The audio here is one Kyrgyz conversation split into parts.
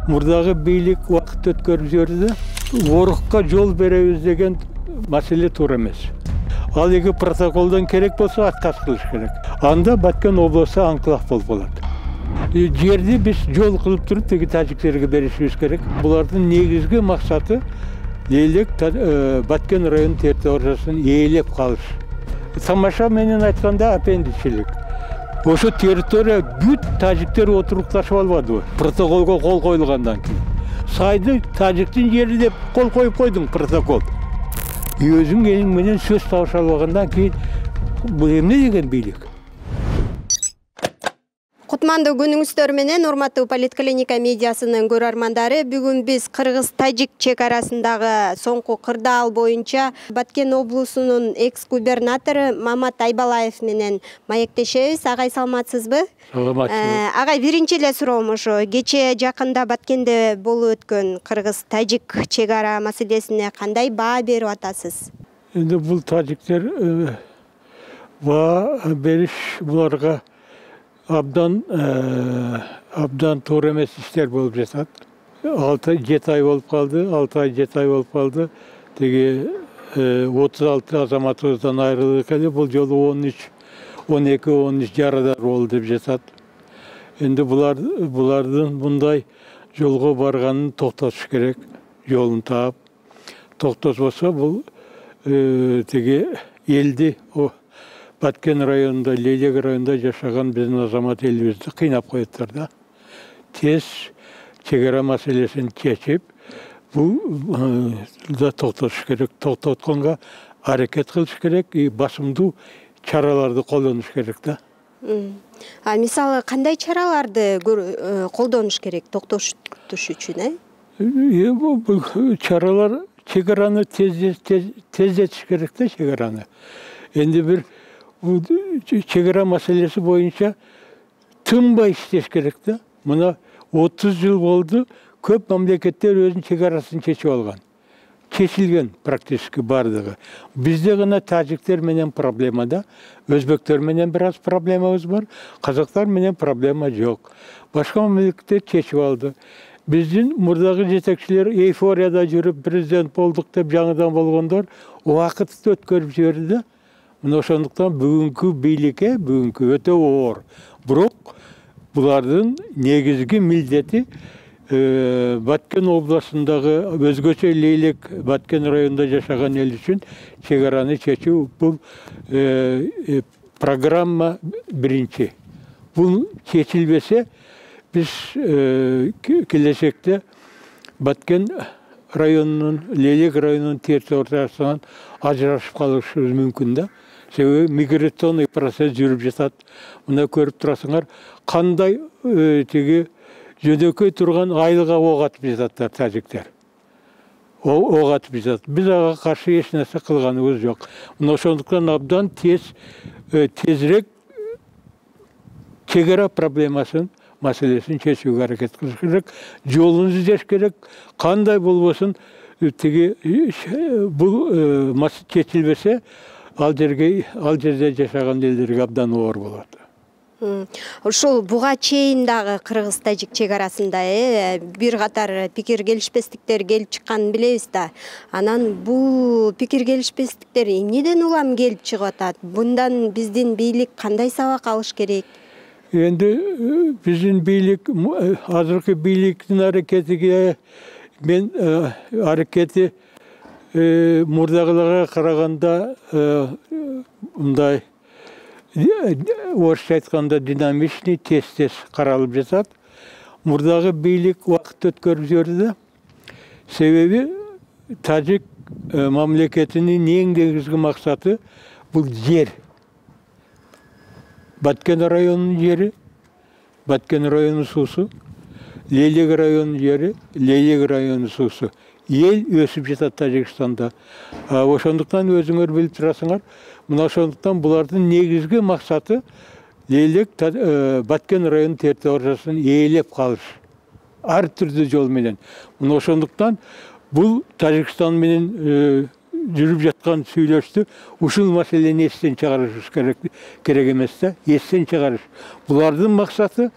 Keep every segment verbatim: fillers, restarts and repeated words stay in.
мурдагы бийлик убакыт өткөрүп жиберди. Орукка жол беребиз деген маселе туура эмес. Ал эки протоколдон керек болсо отказ кылыш керек. Анда Баткен облусу анклав болуп калат. Жерди биз жол кылып туруп теги тажиктерге беришибиз керек. Булардын негизги максаты Лейлек Баткен район территориясын ээлеп калыш. Тамаша менен айтканда аппендичилик. Ошо территория бүт тажиктер отурукташып албадыбы? Протоколго кол коюлгандан кийин. Сайды тажиктин жери деп кол коюп койдуң протокол. Өзүң элиң менен сөз табыша албагандан кийин бул эмне деген бийлик? Кутмандуу күнүңүздөр менен урматтуу Политклиника медиасынын көрөрмандары, бүгүн биз Кыргыз-Тажик чек арасындагы соңку кырдаал боюнча Баткен облусунун экс-губернатору Мамат Айбалаев менен маектешебиз. Агай, саламатсызбы? Саламатсызбы. Агай, биринчи эле суроом ошо. Кечээ жакында Баткенде болуп өткөн Кыргыз-Тажик чек ара маселесине кандай баа берип атасыз? Эми бул тажиктер баа бериш буларга абдан абдан туура эмес иштер болуп жатат. алты жети ай болуп калды, алты ай жети ай болуп калды. Теги отуз алты азаматыбыздан айрылдык эле, бул жолу он үч он эки он үч жарадар болду деп жатат. Энди булар булардын мындай жолго барганын токтотуш керек, жолун таап. Токтотбосо бул теги элди Баткен районунда, Лейлек районунда жашаган биздин азамат элибизди кыйнап коюптур да. Тез чек ара маселесин чечип, бул да токтотуш керек. Токтотконго аракет кылыш керек и басымдуу чараларды колдонуш керек да. А мисалы кандай чараларды колдонуш керек токтотуш үчүн, э? Бул чаралар чек араны тездетиш керек да, чек араны. Энди бир чек ара маселеси боюнча тынбай иштеш керек да. Мына отуз жыл болду, көп мамлекеттер өзүнүн чек арасын чечип алган. Чечилген практически бардыгы. Бизде гана тажиктер менен проблема да, өзбектер менен бир аз проблемабыз бар, казактар менен проблема жок. Башка мамлекеттер чечип алды. Биздин мурдагы жетекчилер эйфорияда жүрүп президент болдук деп жаңыдан болгондор убакытты өткөрүп жиберди да. Мына ошондуктан бүгүнкү бийликке бүгүнкү өтө оор. Бирок булардын негизги милдети Баткен областындагы өзгөчө Лейлек Баткен районунда жашаган эл үчүн чек араны чечүү. Бул программа биринчи. Бул чечилбесе биз келечекте Баткен районунун, Лейлек районунун территориясынан ажырашып калышыбыз мүмкүн да. Себеби миграционный процесс жүрүп жатат. Мына көрүп турасыңар, кандай теги жөнөкөй турган айылга ок атып жататтар тажиктер. Ок атып жатат. Биз ага каршы эч нерсе кылганыбыз жок. Мына ошондуктан абдан тез тезирээк чек ара проблемасын маселесин чечүүгө аракет кылыш керек. Жолун издеш керек. Кандай болбосун теги бул чечилбесе ал жерге ал жерде жашаган элдерге абдан оор болот. Ушул буга чейин дагы Кыргыз-Тажик чек арасында бир катар пикир келишпестиктер келип чыкканын билебиз да. Анан бул пикир келишпестиктер эмнеден улам келип чыгып атат? Bundan биздин бийлик кандай сабак алыш керек? Эndi биздин бийлик, азыркы бийликтин аракетиге мен аракети мурдагыларга караганда мындай орусча айтканда динамичный, тез-тез каралып жатат. Мурдагы бийлик убакыт өткөрүп жиберди да. Себеби тажик мамлекетинин эң негизги максаты бул жер. Баткен районунун жери, Баткен районунун суусу, Лейлек районунун жери, Лейлек районунун суусу. Ел өсүп жатат Тажикстанда. Ошондуктан өзүңөр билип турасыңар, мына ошондуктан булардын негизги максаты Лейлек Баткен районунун территориясын ээлеп калыш. Ар түрдүү жол менен. Мына ошондуктан бул Тажикстан менен жүрүп жаткан сүйлөштү ушул маселени эстен чыгарыш керек керек эмес да, эстен чыгарыш. Булардын максаты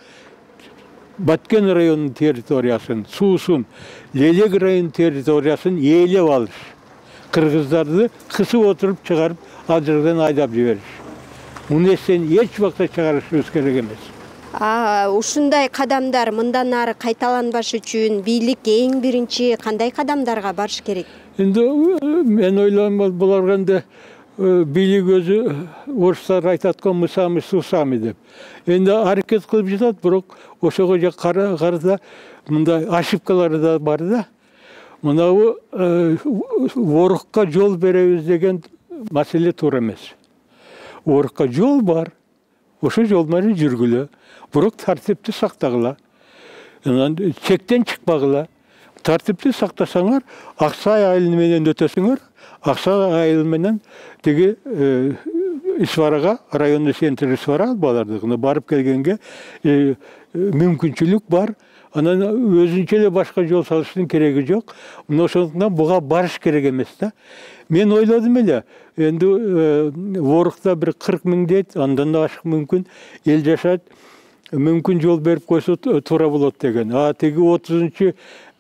Баткен районунун территориясын, суусун, Лелек районунун территориясын ээлеп алыш. Кыргыздарды кысып отуруп чыгарып, ал жерден айдап жибериш. Муну эстен эч убакта чыгарышыбыз керек эмес. А ушундай кадамдар мындан ары кайталанбаш үчүн бийлик эң биринчи кандай кадамдарга барыш керек? Эndi мен ойлойм, буларга энди бийлик өзү орустар айтат го мысамы сусамы деп. Энди аракет кылып жатат, бирок ошого карата мындай ошибкалары да бар да. Мынабу орукка жол беребиз деген маселе туура эмес. Орукка жол бар. Ошо жол менен жүргүлө. Бирок тартипти сактагыла. Чектен чыкпагыла. Тартипти сактасаңар, Аксай айылы менен өтөсүңөр. Аксай айылы менен тиги Исварага, районный центр Исвара балардыгына барып келгенге мүмкүнчүлүк бар. Анан өзүнчө эле башка жол салыштын кереги жок. Мына ошондуктан буга барыш керек эмес да. Мен ойлодум эле, энди Орукта бир кырк миң дейт, андан да ашык мүмкүн эл жашайт. Мүмкүн жол берип койсо туура болот деген. А тиги отузунчу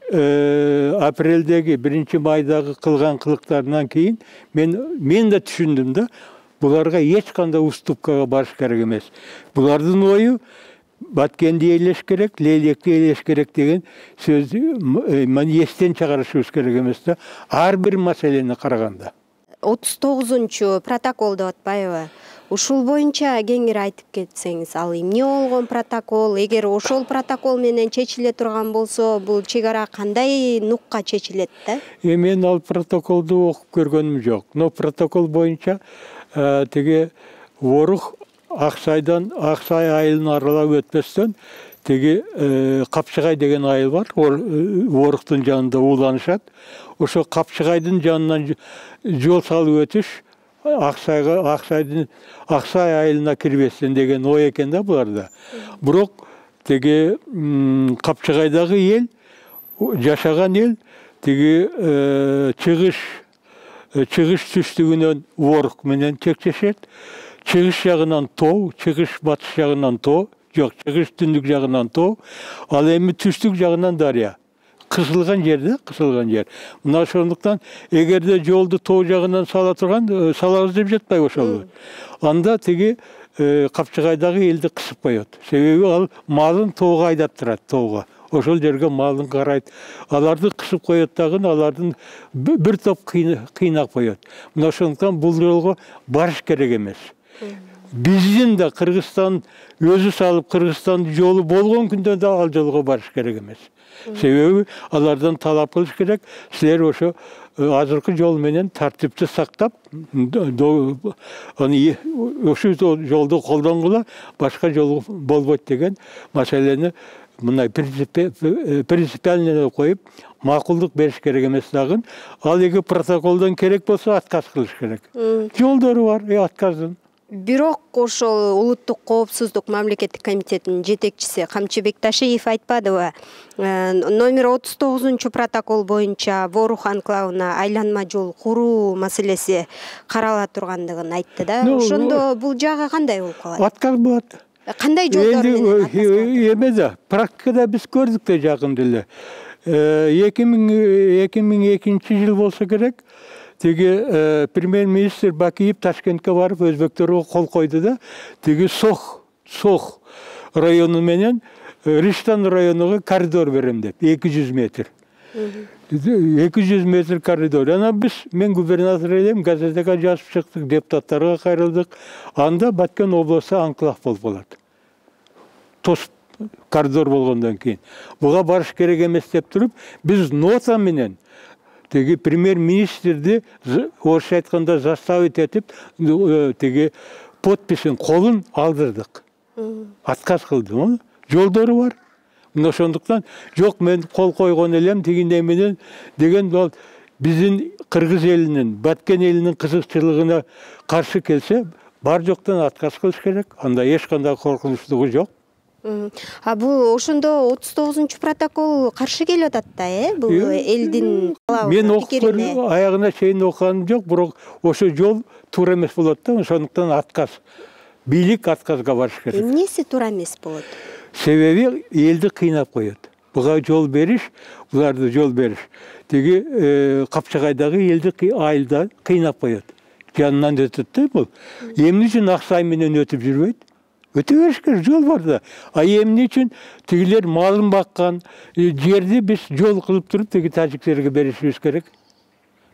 апрелдеги биринчи майдагы кылган кылыктарынан кийин мен мен да түшүндүм да. Буларга эч кандай уступкага барыш керек эмес. Булардын ою Баткенди ээлеш керек, Лелекти ээлеш керек деген сөздү мени эстен чыгарышыбыз керек эмес да. Ар бир маселени караганда. отуз тогузунчу протокол деп атпайбы? Ушул боюнча кеңири айтып кетсеңиз, ал эмне болгон протокол? Эгер ошол протокол менен чечиле турган болсо, бул чек ара кандай нукка чечилет да? Мен ал протоколду окуп көргөнүм жок. Но протокол боюнча тиги Орук Аксайдан Аксай айылын аралап өтпөстөн тиги Капчыгай деген айыл бар. Оруктун жанында ууланышат. Ошо Капчыгайдын жанынан жол салып өтүш Аксайга Аксайдын Аксай айылына кирбестен деген ой экен да буларда. Бирок тиги Капчыгайдагы эл, жашаган эл тиги чыгыш чыгыш түштүгүнөн Орук менен чекчешет. Чыгыш жагынан тоо, чыгыш батыш жагынан тоо, жок, чыгыш түндүк жагынан тоо, ал эми түштүк жагынан дарыя. Кысылган жерде, кысылган жер. Мына ошондуктан эгерде жолду тоо жагынан сала турган, салабыз деп жатпайбы ошол. Анда тиги Капчыгайдагы элди кысып коет. Себеби ал малын тоого айдап турат, тоого. Ошол жерге малын карайт. Аларды кысып коет дагы, алардын бир топ кыйнап коет. Мына ошондуктан бул жолго барыш керек эмес. Биздин да Кыргызстан өзү салып Кыргызстандын жолу болгон күндө да ал жолго барыш керек эмес. Себеби алардан талап кылыш керек. Силер ошо азыркы жол менен тартипти сактап, ошол жолду колдонгула, башка жол болбойт деген маселени мындай принципиально коюп, макулдук бериш керек эмес дагы. Ал эги протоколдон керек болсо отказ кылыш керек. Жолдору бар, отказдын. Бирок ошол улуттук коопсуздук мамлекеттик комитетинин жетекчиси Камчы Бекташиев айтпадыбы? Номер отуз тогузунчу протокол боюнча Орук анклавына айланма жол куруу маселеси карала тургандыгын айтты да. Ошондо бул жагы кандай болуп калат? Отказ болот. Кандай жолдор менен отказ болот? Эме да, практикада биз көрдүк да жакында эле. эки миң экинчи жыл болсо керек. Тиги премьер-министр Бакиев Ташкентке барып өзбектерге кол койду да, тиги Сох, Сох району менен Риштан районуга коридор берем деп, эки жүз метр. эки жүз метр коридор. Ана биз, мен губернатор элем, газетеге жазып чыктык, депутаттарга кайрылдык. Анда Баткен областы анклав болуп калат. Тос коридор болгондон кийин. Буга барыш керек эмес деп туруп, биз нота менен тиги премьер-министрди орусча айтканда заставить этип, тиги подписин, колун алдырдык. Отказ кылды. Жолдору бар. Мына ошондуктан жок, мен кол койгон элем тигиндей менен деген ал биздин кыргыз элинин, Баткен элинин кызыкчылыгына каршы келсе, бар жоктон отказ кылыш керек. Анда эч кандай коркунучтугу жок. А бул ошондо отуз тогузунчу протокол каршы келип атат да, э? Бул элдин мен окуп аягына чейин окуганым жок, бирок ошо жол туура эмес болот да, ошондуктан отказ. Бийлик отказга барыш керек. Эмнеси туура эмес болот? Себеби элди кыйнап коет. Буга жол бериш, буларды жол бериш. Теги Капчагайдагы элди айылда кыйнап коет. Жанынан өтөт да бул. Эмне үчүн Аксай менен өтүп жүрбөйт? Өтө бериш керек, жол бар да. А эмне үчүн тигилер малын баккан жерди биз жол кылып туруп теги тажиктерге беришибиз керек.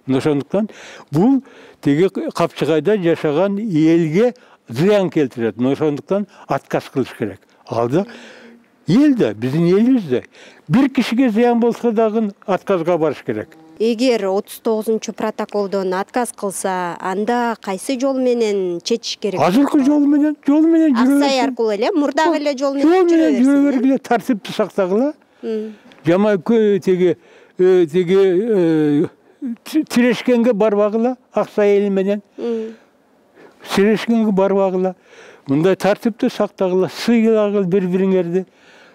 Ошондуктан бул теги Капчагайда жашаган элге зыян келтирет. Ошондуктан отказ кылыш керек. Алда эл да, биздин элибиз да. Бир кишиге зыян болсо дагы отказга барыш керек. Эгер отуз тогузунчу протоколдон отказ кылса, анда кайсы жол менен чечиш керек? Азыркы жол менен, жол менен жүрө берсин. Аксай аркылуу эле, мурдагы эле жол менен жүрө берсин. Жол менен жүрө бергиле, тартипти сактагыла. Жама теги теги Тирешкенге барбагыла, Аксай эли менен. Тирешкенге барбагыла. Мындай тартипти сактагыла, сыйлагыла бири-бириңерди.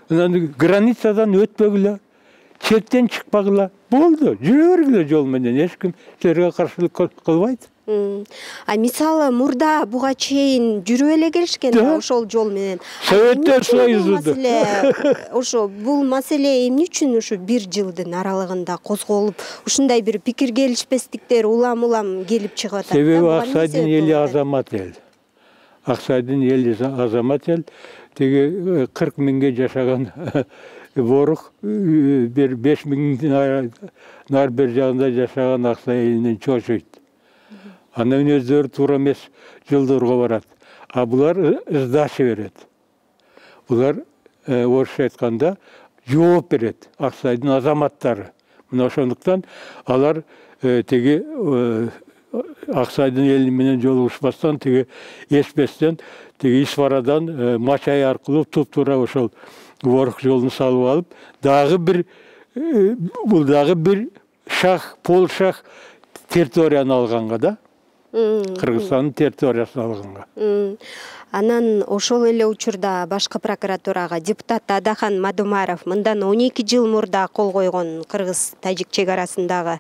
Границадан өтпөгүлө, чектен чыкпагыла. Болду, жүрө бергиле жол менен, эч ким силерге каршылык кылбайт. А мисалы мурда буга чейин жүрүп эле келишкен да ошол жол менен. Советтер Союзу. Ошо бул маселе эмне үчүн ушу бир жылдын аралыгында козголуп, ушундай бир пикир келишпестиктер улам-улам келип чыгып атат? Себеби Аксайдын эли азамат эл. Аксайдын эли азамат эл. Теги кырк миңге жашаган Борук бир беш миңдин нар бер жагында жашаган Аксай элинен чочойт. Андан өздөрү туура эмес жолдорго барат. А булар сдача берет. Булар орусча айтканда жооп берет Аксайдын азаматтары. Мына ошондуктан алар теги Аксайдын эли менен жолугушпастан теги эспестен теги Исфарадан Мачай аркылуу туп-туура ошол Борук жолун салып алып, дагы бир бул дагы бир шах, полшах территорияны алганга да. Кыргызстандын территориясын алганга. Анан ошол эле учурда башкы прокуратурага депутат Адахан Мадумаров мындан он эки жыл мурда кол койгон кыргыз-тажик чек арасындагы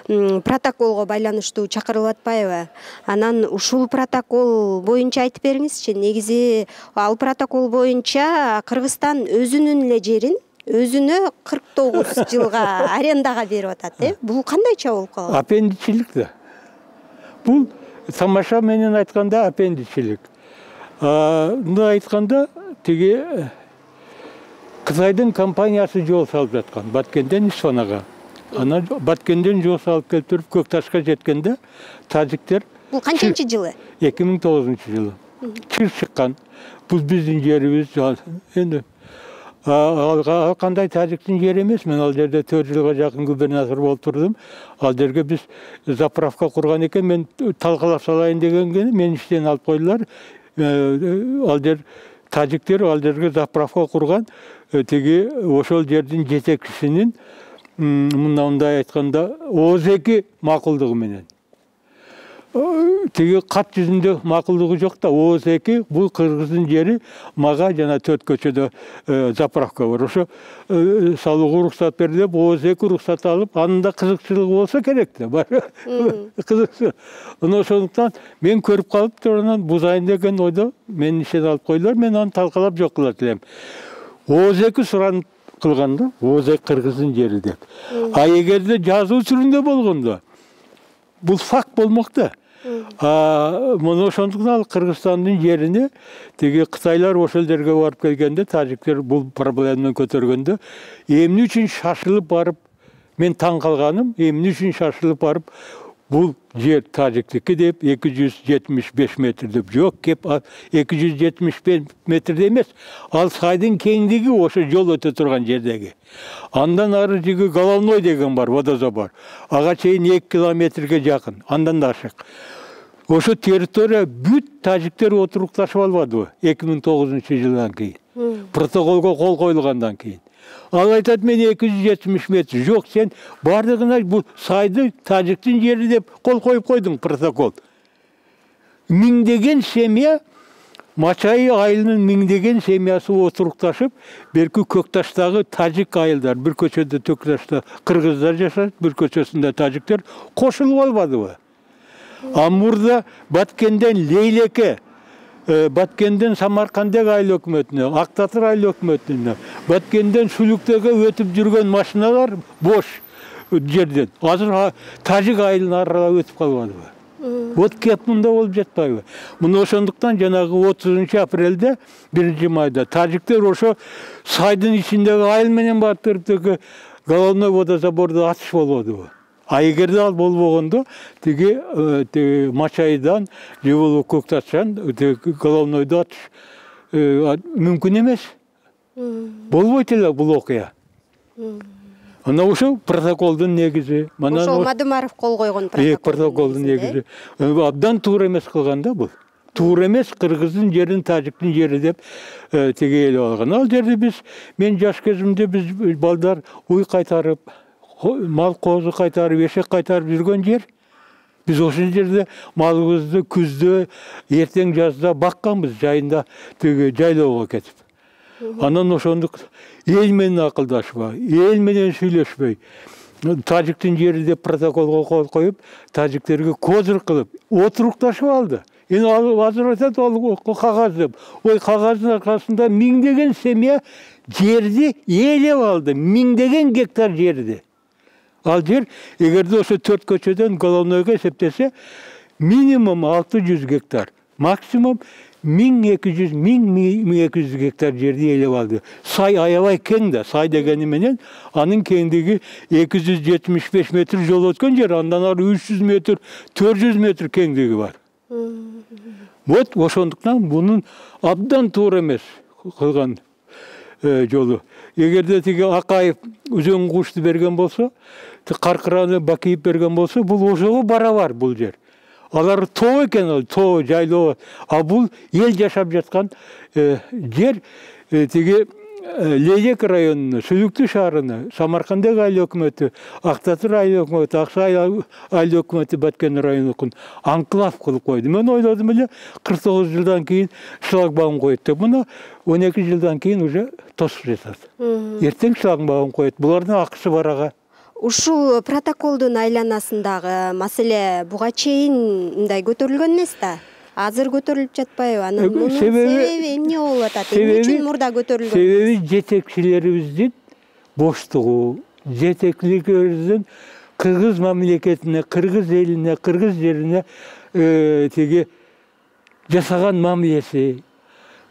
протоколго байланыштуу чакырылып атпайбы? Анан ушул протокол боюнча айтып бериңизчи. Негизи ал протокол боюнча Кыргызстан өзүнүн эле жерин өзүнө кырк тогуз жылга арендага берип атат, э? Бул кандайча болуп калган? Аппендичилик да. Бул тамаша менен айтканда аппендичилик. Мына айтканда теги Кытайдын компаниясы жол салып жаткан Баткенден Исфанага. Анан Баткенден жол салып келип туруп Көкташка жеткенде тажиктер бул канчанчы жылы? эки миң тогузунчу жылы. Чыр чыккан. Бул биздин жерибиз. Эndi ал кандай тажиктин жери эмес. Мен ал жерде төрт жылга жакын губернатор болуп турдум. Ал жерге биз заправка курган экен, мен талкалап салайын дегенге мен иштен алып койдулар. Ал жер тажиктер ал жерге заправка курган. Теги ошол жердин жетекчисинин мындай айтканда Оз эки макулдугу менен. Теги кат жүзүндө макулдугу жок да, Оз эки бул кыргыздын жери, мага жана төрт көчөдө заправка бар. Ошо салууга уруксат берди деп Оз эки уруксат алып, анын да кызыкчылыгы болсо керек да. Бар. Кызыкчы. Ошондуктан мен көрүп калып турганан бузайын деген ойдо мен иштен алып койдулар, мен аны талкалап жок кылат элем. Оз эки суранып кылган да, Оз эки кыргыздын жери деп. А эгерде жазуу түрүндө болгондо бул факт болмок да. Мына ошондуктан ал Кыргызстандын жерине теги Кытайлар ошол жерге барып келгенде, тажиктер бул проблеманы көтөргөндө, эмне үчүн шашылып барып, мен таң калганым, эмне үчүн шашылып барып бул жер тажиктики деп эки жүз жетимиш беш метр деп, жок, кеп эки жүз жетимиш беш метрде эмес, ал сайдын кеңдиги ошо жол өтө турган жердеги. Андан ары жиги Головной деген бар, водозабор. Ага чейин эки километрге жакын, андан да ашык. Ошо территория бүт тажиктер отурукташып албадыбы эки миң тогузунчу жылдан кийин. Протоколго кол коюлгандан кийин. Ал айтат, мен эки жүз жетимиш метр. Жок, сен бардыгына бул сайды тажиктин жери деп кол коюп койдуң протокол. Миңдеген семья, Мачай айылынын миңдеген семьясы отурукташып, берки Көкташтагы тажик айылдар, бир көчөдө Көкташта кыргыздар жашайт, бир көчөсүндө тажиктер кошулуп албадыбы? А мурда Баткенден Лейлеке Баткенден Самаркандек айыл өкмөтүнө, Ак Татыр айыл өкмөтүнө, Баткенден Сүлүктөгө өтүп жүргөн машиналар бош жерден. Азыр Тажик айылын аралап өтүп калбадыбы? Вот кеп мында болуп жатпайбы? Мына ошондуктан жанагы отузунчу апрелде биринчи майда тажиктер ошо сайдын ичиндеги айыл менен батырып головной водозаборду атыш болбодубу? А эгерде ал болбогондо тиги Мачайдан же болбосо Көктачан головнойду атыш мүмкүн эмес. Болбойт эле бул окуя. Ана ошо протоколдун негизи. Ошол Мадымаров кол койгон протокол. Протоколдун негизи. Абдан туура эмес кылган да бул. Туура эмес, кыргыздын жерин тажиктин жери деп тиги элеп алган. Ал жерде биз мен жаш кезимде биз балдар уй кайтарып, мал коозу кайтарып, эшек кайтарып жүргөн жер. Биз ошол жерде малыбызды күздө, эртең жазда бакканбыз, жайында тиги жайлоого кетип. Анан ошондук эл менен акылдашпай, эл менен сүйлөшпөй, тажиктин жери деп протоколго кол коюп, тажиктерге козыр кылып, отурукташып алды. Эми азыр айтат ал кагаз деп. Ой, кагаздын аркасында миңдеген семья жерди ээлеп алды, миңдеген гектар жерди. Ал жер, эгерде ошо төрт көчөдөн головнойго эсептесе, минимум алты жүз гектар, максимум миң эки жүз, миң эки жүз гектар жерди ээлеп алды. Сай аябай кең да, сай дегени менен анын кеңдиги эки жүз жетимиш беш метр жол өткөн жер, андан ары үч жүз метр, төрт жүз метр кеңдиги бар. Вот ошондуктан бунун абдан туура эмес кылган жолу. Эгерде тиги Акаев өзөн кушту берген болсо, Каркыраны Бакиев берген болсо, бул ошого барабар бул жер. Алар тоо экен, ал тоо жайлоо. А бул эл жашап жаткан жер тиги Лейлек районуна, Сүлүктүү шаарына, Самаркандек айыл өкмөтү, Ак Татыр айыл өкмөтү, Аксай айыл өкмөтү Баткен районун анклав кылып койду. Мен ойлодум эле кырк тогуз жылдан кийин шлагбаум коет деп. Мына он эки жылдан кийин уже тосуп жатат. Эртең шлагбаум коет. Булардын акысы бар ага. Ушул протоколдун айланасындагы маселе буга чейин мындай көтөрүлгөн эмес да? Азыр көтөрүлүп жатпайбы? Анын мунун себеби эмне болуп атат? Эмне үчүн мурда көтөрүлгөн? Себеби жетекчилерибиздин боштугу, жетекчилерибиздин кыргыз мамлекетине, кыргыз элине, кыргыз жерине тиги жасаган мамилеси,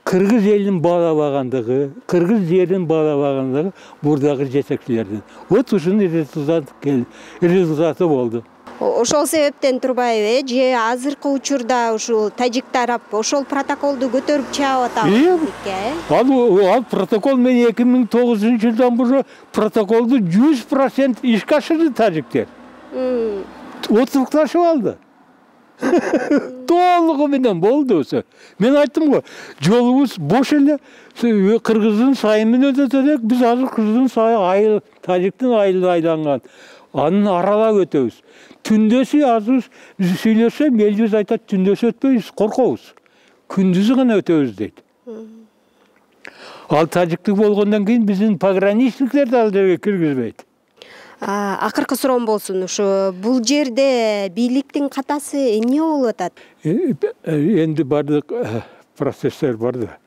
кыргыз элин баалабагандыгы, кыргыз жерин баалабагандыгы мурдагы жетекчилердин. Вот ушунун результаты болду. Ошол себептен турбайбы, же азыркы учурда ушул тажик тарап ошол протоколду көтөрүп чыгып атабы? Ал протокол мен эки миң тогузунчу жылдан бери протоколду жүз процент ишке ашырды тажиктер. Отурукташып алды. Толугу менен болду ошо. Мен айттым го, жолубуз бош эле, кыргыздын сайы менен өтөт элек, биз азыр кыргыздын сайы айыл, тажиктин айылы айланган. Анын аралап өтөбүз. Түндөсү азыр сүйлөсөм, элибиз айтат, түндөсү өтпөйбүз, коркобуз. Күндүзү гана өтөбүз дейт. Ал тажиктик болгондон кийин биздин пограничниктер ал жерге киргизбейт. Акыркы суроом болсун, ушу бул жерде бийликтин катасы эмне болуп атат? Энди бардык процесстер бар да.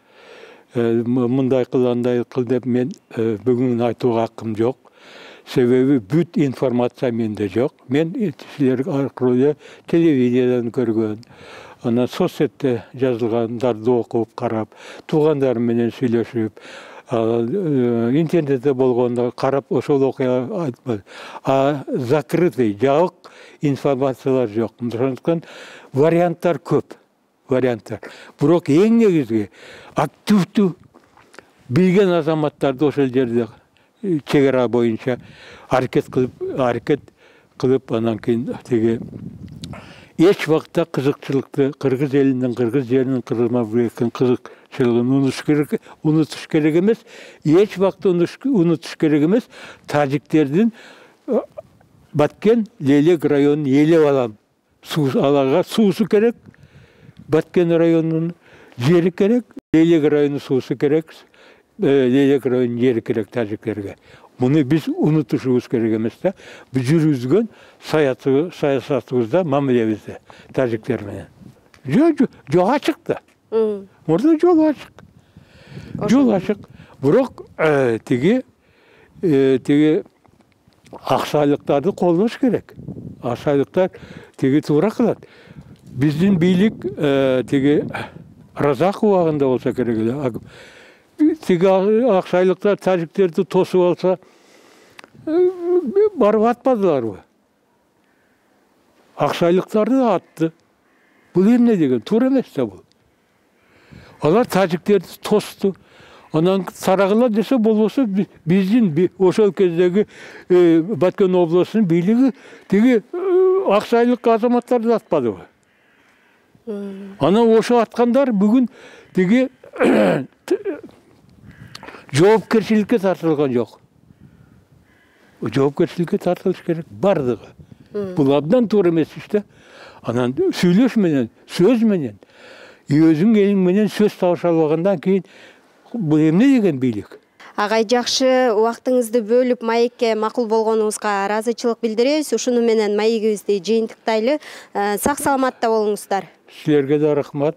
Мындай кыл, андай кыл деп мен бүгүн айтууга акым жок. Себеби бүт информация менде жок. Мен силер аркылуу телевидениеден көргөн, анан соцсетте жазылгандарды окуп, карап, туугандарым менен сүйлөшүп, интернетте болгондо карап ошол окуя айтпады. А закрытый, жабык информациялар жок. Ошондуктан варианттар көп. Варианттар. Бирок эң негизги активдүү билген азаматтарды ошол жерде чек ара боюнча аракет кылып, аракет кылып, анан кийин тиги эч убакта кызыкчылыкты, кыргыз элинин, кыргыз жеринин, кыргыз мамлекетинин кызыкчылыгын унутуш керек, унутуш керек эмес, эч убакта унутуш керек эмес. Тажиктердин Баткен Лейлек районун ээлеп алам. Аларга суусу керек, Баткен районунун жери керек, Лейлек районунун суусу керек, Лейлек районунун жери керек тажиктерге. Муну биз унутушубуз керек эмес да. Биз жүргүзгөн саясатыбызда, мамилебизде тажиктер менен. Жок, жок ачык да. Мурда жол ачык. Жол ачык. Бирок тиги тиги аксайлыктарды колдош керек. Аксайлыктар тиги туура кылат. Биздин бийлик тиги Разак убагында болсо керек эле. Тиги аксайлыктар тажиктерди тосуп алса, барып атпадыларбы? Аксайлыктарды атты. Бул эмне деген? Туура эмес да бул. Алар тажиктерди тосту. Анан сарагыла десе болбосо биздин ошол кездеги Баткен областынын бийлиги тиги аксайлык азаматтарды атпадыбы? Анан ошо аткандар бүгүн тиги жоопкерчиликке тартылган жок. Жоопкерчиликке тартылыш керек бардыгы. Бул абдан туура эмес иш да. Анан сүйлөш менен, сөз менен, өзүң элиң менен сөз табыша албагандан кийин бул эмне деген бийлик? Агай, жакшы убактыңызды бөлүп маекке макул болгонуңузга ыраазычылык билдиребиз. Ушуну менен маегибизди жыйынтыктайлы. Сак саламатта болуңуздар. Силерге да рахмат.